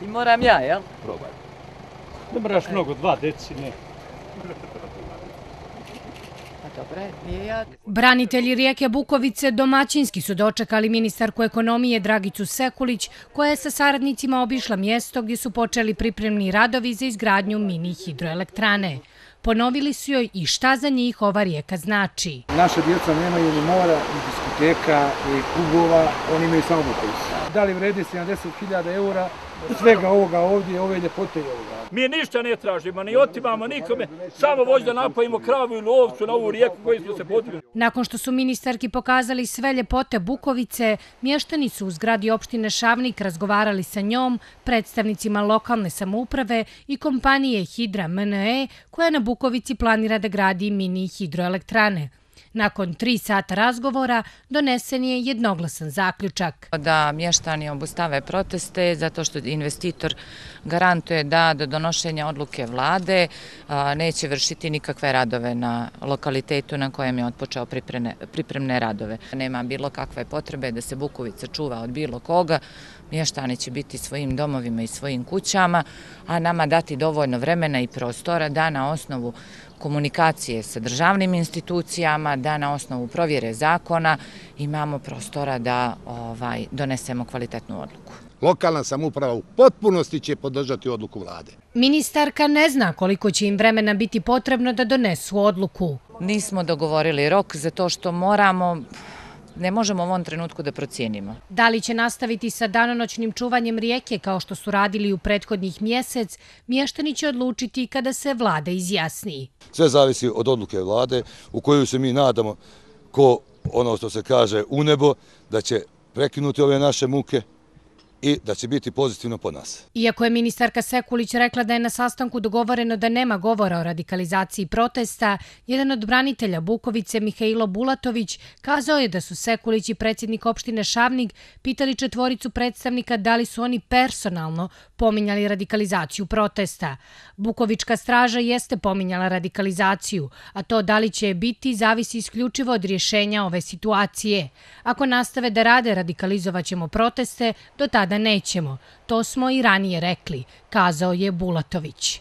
I moram ja, jel? Probaj. Ne moraš mnogo, 2 deci, ne. Branitelji rijeke Bukovice domaćinski su dočekali ministarku ekonomije Dragicu Sekulić, koja je sa saradnicima obišla mjesto gdje su počeli pripremni radovi za izgradnju mini hidroelektrane. Ponovili su joj i šta za njih ova rijeka znači. Naša djeca nemaju ni mora, ni diskoteka, ni klubova, oni imaju samo Bukovicu. Da li vredi 70.000 eura svega ovoga ovdje, ove ljepote i ovoga? Mi ništa ne tražimo, ni otimamo nikome, samo vođu da napojimo kravu ili ovcu na ovu rijeku koju smo se podigli. Nakon što su ministarki pokazali sve ljepote Bukovice, mještani su u zgradi opštine Šavnik razgovarali sa njom, predstavnicima lokalne samouprave i kompanije Hidra MNE, koja na Bukovici planira da gradi mini hidroelektrane. Nakon 3 sata razgovora donesen je jednoglasan zaključak. Da mještani obustave proteste zato što investitor garantuje da do donošenja odluke vlade neće vršiti nikakve radove na lokalitetu na kojem je otpočeo pripremne radove. Nema bilo kakve potrebe da se Bukovica čuva od bilo koga. Mještani će biti svojim domovima i svojim kućama, a nama dati dovoljno vremena i prostora da na osnovu komunikacije sa državnim institucijama, da na osnovu provjere zakona imamo prostora da donesemo kvalitetnu odluku. Lokalna samouprava u potpunosti će podržati odluku vlade. Ministarka ne zna koliko će im vremena biti potrebno da donesu odluku. Nismo dogovorili rok zato što ne možemo u ovom trenutku da procijenimo. Da li će nastaviti sa danonoćnim čuvanjem rijeke kao što su radili u prethodnih mjesec, mještani će odlučiti kada se vlada izjasni. Sve zavisi od odluke vlade u koju se mi nadamo ko ono što se kaže u nebo, da će prekinuti ove naše muke i da će biti pozitivno po nas. Iako je ministarka Sekulić rekla da je na sastanku dogovoreno da nema govora o radikalizaciji protesta, jedan od branitelja Bukovice, Mihailo Bulatović, kazao je da su Sekulić i predsjednik opštine Šavnik pitali 4 predstavnika da li su oni personalno pominjali radikalizaciju protesta. Bukovička straža jeste pominjala radikalizaciju, a to da li će biti zavisi isključivo od rješenja ove situacije. Ako nastave da rade, radikalizovaćemo proteste, do tada nećemo. To smo i ranije rekli, kazao je Bulatović.